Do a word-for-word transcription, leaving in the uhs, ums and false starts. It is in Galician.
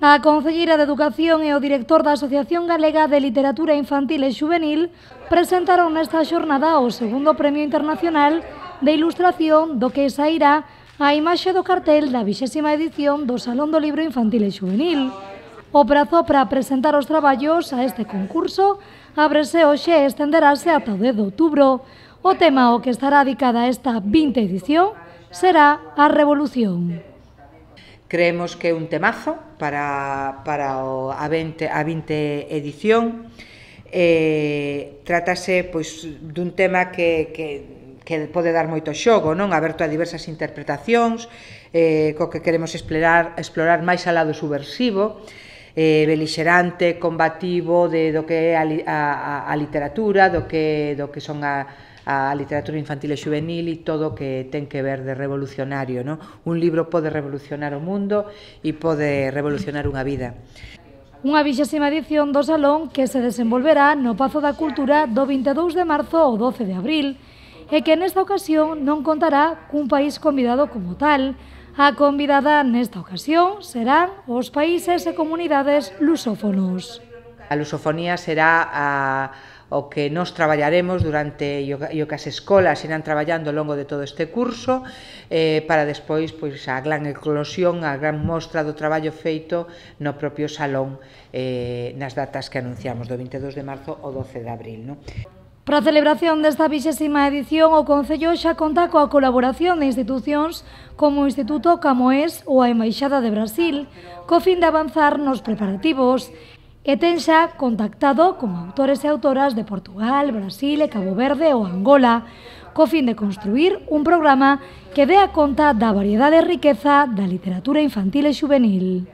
A concelleira de Educación e o director da Asociación Galega de Literatura Infantil e Xuvenil presentaron nesta xornada o segundo Premio Internacional de Ilustración do que sairá a imaxe do cartel da vixésima edición do Salón do Libro Infantil e Xuvenil. O prazo para presentar os traballos a este concurso ábrese hoxe e estenderase ata o dez de outubro. O tema ao que estará dedicada esta vinte edición será a Revolución. Creemos que é un temazo para, para o, a, vinte, a vinte edición. Eh, trátase pois, dun tema que, que, que pode dar moito xogo, non? Aberto a diversas interpretacións, eh, co que queremos explorar, explorar máis alá do subversivo, eh, belixerante, combativo de, do que é a, a, a literatura, do que, do que son a, a literatura infantil e xuvenil e todo o que ten que ver de revolucionario, non? Un libro pode revolucionar o mundo e pode revolucionar unha vida. Unha vixésima edición do Salón que se desenvolverá no Pazo da Cultura do vinte e dous de marzo ao doce de abril e que nesta ocasión non contará cun país convidado como tal. A convidada nesta ocasión serán os países e comunidades lusófonos. A lusofonía será a, o que nos traballaremos durante e o que as escolas irán traballando ao longo de todo este curso eh, para despois pois, a gran eclosión, a gran mostra do traballo feito no propio salón eh, nas datas que anunciamos do vinte e dous de marzo ao doce de abril. Non? Para a celebración desta vixésima edición, o Concello xa conta coa colaboración de institucións como o Instituto Camões ou a Embaixada de Brasil, co fin de avanzar nos preparativos, e ten xa contactado con autores e autoras de Portugal, Brasil e Cabo Verde ou Angola, co fin de construir un programa que dé a conta da variedade e riqueza da literatura infantil e xuvenil.